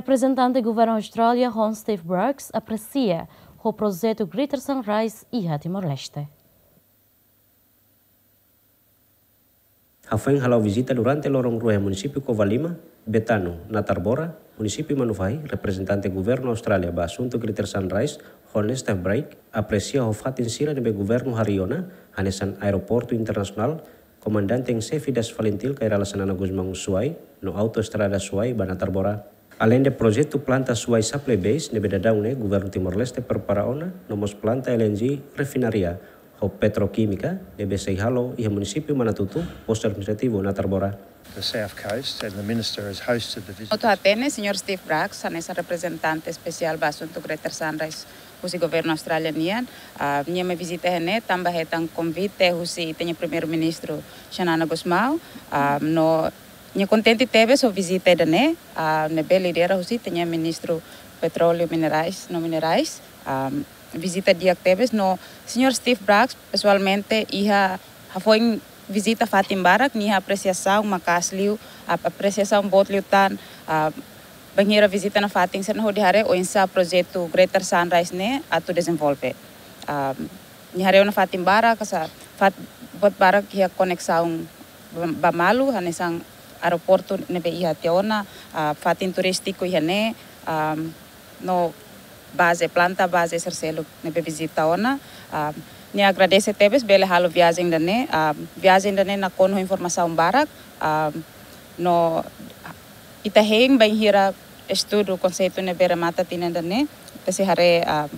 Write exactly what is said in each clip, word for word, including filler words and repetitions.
Reprezentante Governu Austrália, Hon Steve Braggs, apresia ho projetu Greater Sunrise iha Timor-Leste. Hafoin hala'o vizita durante loron rua iha munisípiu Covalima, Betano, Natarbora, munisípiu Manufahi, reprezentante Governu Austrália ba asuntu Greater Sunrise, Hon Steve Braggs, apresia ho fatin sira ne'ebé governu harii ona, hanesan aeroportu internasionál, Komandante en Xefe das Falintil Kay Rala Xanana Gusmão Suai, no autoestrada Suai ba Natarbora. Aleinde projetu planta Suai Supply Base ne'ebé daudaun ne'e governu Timor-Leste prepara ona, no mós planta L N G refinaria ho petrokímika ne'ebé sei halo iha munisípiu Manatuto, postu administrativu Natarbora. The South Coast, and the Minister has hosted the visit. Atu hatene, Señór Steve Braggs, hanesan reprezentante espesiál ba asuntu Greater Sunrise husi governu Austrália nian, ah, nia mai vizita iha ne'e tanba hetan konvite husi ita-nia Primeiru-Ministru Xanana Gusmão, ah, no nia kontente tebes ho vizita ida-ne'e, ah, ne'ebé lidera husi ita-nia Ministru Petróleu, Minerais no Minerais, ah, vizita di'ak tebes no Señór Steve Braggs pesoalmente iha hafoin vizita fatin barak, nia apresiasaun maka'as liu, ap-, apresiasaun boot liután, ah, bainhira vizita nafatin sira-ne'e hodi haree oinsá projetu Greater Sunrise ne'e atu dezenvolve. Ah, nia haree ona fatin barak, hanesan fat-, buat barak iha koneksaun ba, ba malu, hanesan aeroportu ne'ebé iha tiha ona, ah, fatin turístiku iha ne'e, ah, no baze, planta baze sira seluk ne'ebé vizita ona. Ah, nia agradese tebes bele halo viajen ida-ne'e, ah, viajen ida-ne'e nakonu ho informasaun barak, ah, no ita hein bainhira estudu konseitu ne'ebé remata tinan ida-ne'e, ita sei haree, ah,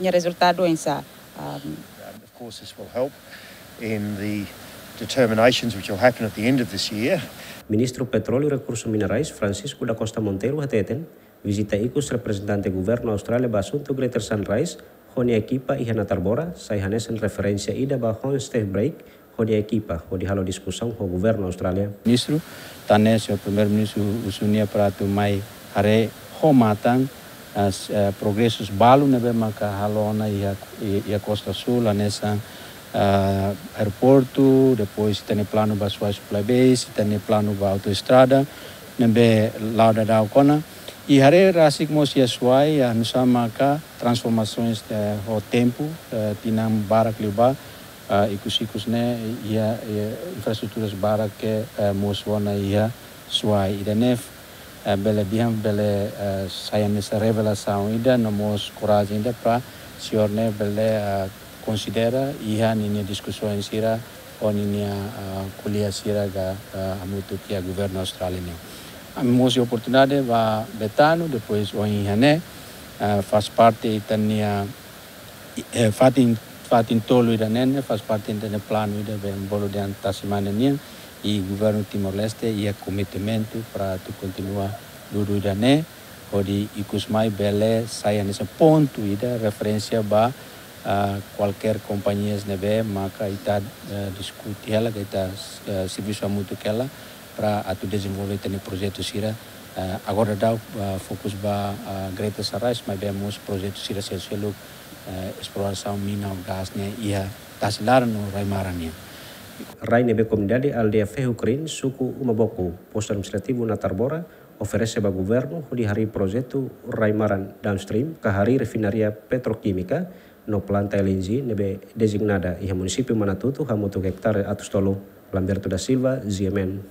nia rezultadu oinsá. Ah, Of course, this will help in the determinations which will happen at the end of this year. Ministru Petróleu Rekursu Minerais, Francisco da Costa Monteiro, hateten, vizita ikus reprezentante governu Austrália ba asuntu Greater Sunrise ho nia ekipa iha Natarbora, sai hanesan referénsia ida ba Hon Steve Braggs ho nia ekipa hodi halo diskusaun ho governu Austrália. Ministru, tan ne'e Señór Primeiru-Ministru husu nia para atu mai haree ho matan, ah, s-, ah, progresus balu ne'ebé maka halo ona iha, iha Costa Sul, hanesan, ah, aeroportu, depois ita-nia planu ba Suai Supply Base, ita-nia planu ba autoestrada, ne'ebé la'o daudaun ona. I haree rasik mós iha Suai, ah, nu'usá maka transformasoens, eh, ho tempu, eh, tinan barak liubá, ah, ikus-ikus ne'e, iha, iha infraestruturas barak ke, eh, mosu ona iha Suai. Ida-ne'e, eh, bele dehan, bele, eh, sai hanesan revelasaun ida, no mós korajen ida para señór ne'e bele, eh, konsidera iha ninia diskusaun sira ho ninia, ah, kolega sira ka, ah, hamutuk iha governu Austrália nian. Ami mós iha oportunidade ba Betano, depois ohin iha ne'e, ah, faz parte ita-nia, eh, fatin, fatin tolu ida-ne'e, ne'e faz parte ita-nia planu ida be bolu dehan tasi mane nian, i governu Timor-Leste iha kompromisu para atu kontinua dudu ida-ne'e, hodi ikus mai bele sai hanesan pontu ida referénsia ba, ah, kualkér kompañias ne'ebé maka ita, eh, diskute hela, ka ita, eh, servisu hamutuk hela para atu dezenvolve ita-nia projetu sira. Eh, agora daudaun, ah, fokus ba, ah, Greater Sunrise, maibé mós projetu sira seluk-seluk, eh, esplorasaun mina no gás ne'e iha tasi laran no rai-maran nian. Rai ne'ebé komunidade aldeia Ferro Crane, suku Uma Boko, postu administrativu Natarbora, oferese ba governu hodi harii projetu rai-maran downstream, ka harii refinaria petrokímika, no planta L N G ne'ebé dezignada iha munisípiu Manatuto hamutuk ektare atus tolu. Lamberto da Silva, G M N.